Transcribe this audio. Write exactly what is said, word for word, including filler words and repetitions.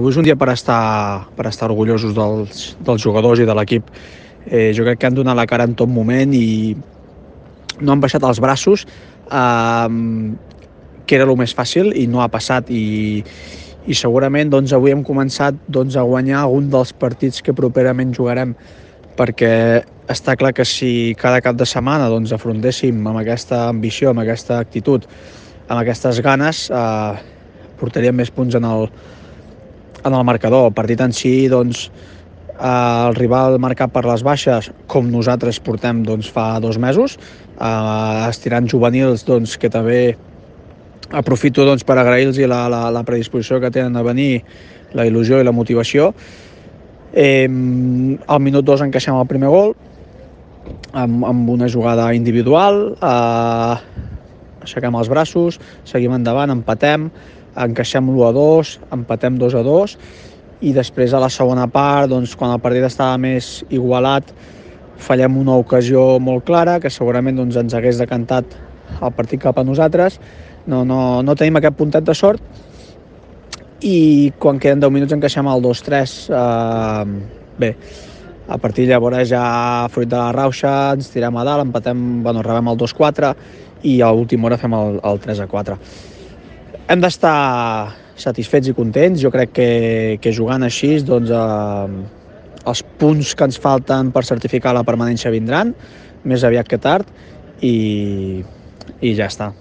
avui és un dia per estar, per estar orgullosos dels, dels jugadors i de l'equip. Eh, jo crec que han donat la cara en tot moment i no han baixat els braços, eh, que era el més fàcil i no ha passat. I, i segurament doncs, avui hem començat doncs, a guanyar algun dels partits que properament jugarem, perquè està clar que si cada cap de setmana doncs, afrontéssim amb aquesta ambició, amb aquesta actitud, amb aquestes ganes, eh, portaríem més punts en el, en el marcador. El partit en si, doncs, eh, el rival marcat per les baixes, com nosaltres portem doncs, fa dos mesos, eh, estirant juvenils doncs, que també aprofito doncs, per agrair-los la, la, la predisposició que tenen a venir, la il·lusió i la motivació. Eh, al minut dos encaixem el primer gol amb, amb una jugada individual, eh, aixequem els braços, seguim endavant, empatem, encaixem l'u a dos, empatem dos a dos i després a la segona part, doncs, quan el partit estava més igualat, fallem una ocasió molt clara que segurament doncs, ens hagués decantat el partit cap a nosaltres. No, no, no tenim aquest puntet de sort i quan queden deu minuts encaixem el dos tres. Eh, bé, a partir de llavors ja fruit de la rauxa ens tirem a dalt, empatem, bueno, rebem el dos quatre i a l'última hora fem el, el tres a quatre. Hem d'estar satisfets i contents. Jo crec que, que jugant així doncs, eh, els punts que ens falten per certificar la permanència vindran més aviat que tard i, i ja està.